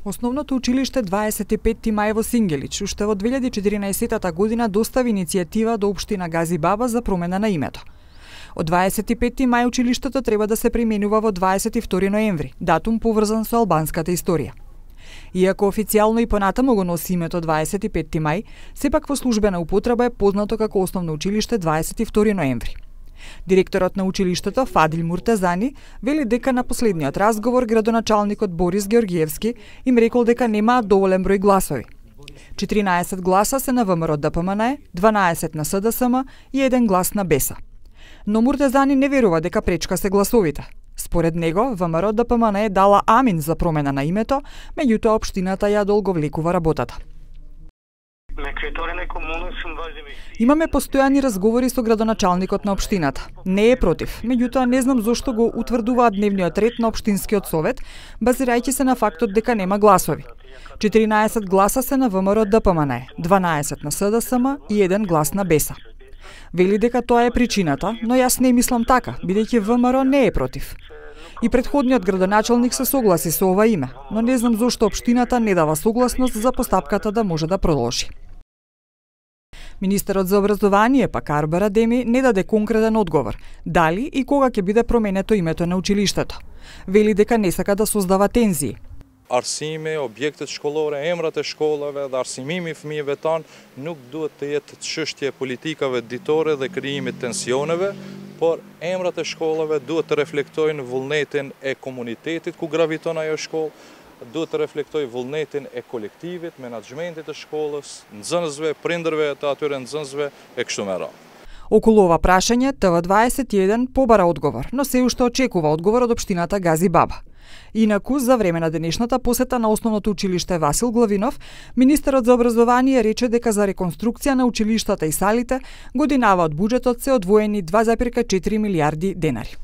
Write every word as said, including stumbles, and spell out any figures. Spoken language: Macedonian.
Основното училиште дваесет и петти мај во Сингелич уште во две илјади и четиринаесетта година достави иницијатива до општина Газибаба за промена на името. Од дваесет и петти мај училиштето треба да се применува во дваесет и втори ноември, датум поврзан со албанската историја. Иако официјално и понатаму го носи името дваесет и петти мај, сепак во службена употреба е познато како Основно училиште дваесет и втори ноември. Директорот на училиштето Фадил Муртазани вели дека на последниот разговор градоначалникот Борис Георгиевски им рекол дека немаат доволен број гласови. четиринаесет гласа се на ВМРО Д П М Н Е, дванаесет на С Д С М и еден глас на Беса. Но Муртазани не верува дека пречка се гласовите. Според него, ВМРО Д П М Н Е дала амин за промена на името, меѓутоа општината ја долговлекува работата. Имаме постојани разговори со градоначалникот на општината. Не е против, меѓутоа не знам зошто го утврдуваат дневниот ред на општинскиот совет, базирајќи се на фактот дека нема гласови. четиринаесет гласа се на ВМРО Д П М Н Е, дванаесет на С Д С М и еден глас на Беса. Вели дека тоа е причината, но јас не мислам така, бидејќи ВМРО не е против. И претходниот градоначалник се согласи со ова име, но не знам зошто општината не дава согласност за постапката да може да продолжи. Министерот за образование, пак Арбер Адеми, не даде конкретен одговор, дали и кога ќе биде променето името на училиштето. Вели дека не сака да создава тензии. Arsimi, objektet shkollore, emrat e shkollave dhe arsimimi i fëmijëve tanë nuk duhet të jetë çështje politikave ditore dhe krijimit tensioneve, por emrat e shkollave duhet të reflektojnë vullnetin e komunitetit ku graviton ajo shkollë, duhet të reflektojë vullnetin e kolektivit, menaxhmentit të shkollës, nxënësve, prindërve të atyre nxënësve e kështu me radhë. Околу ова прашање Т В дваесет и еден побара одговор, но се уште очекува одговор од општината Газибаба. Инаку, за време на денешната посета на Основното училиште Васил Главинов, министерот за образование рече дека за реконструкција на училиштата и салите годинава од буџетот се одвоени два зарез и четири милијарди денари.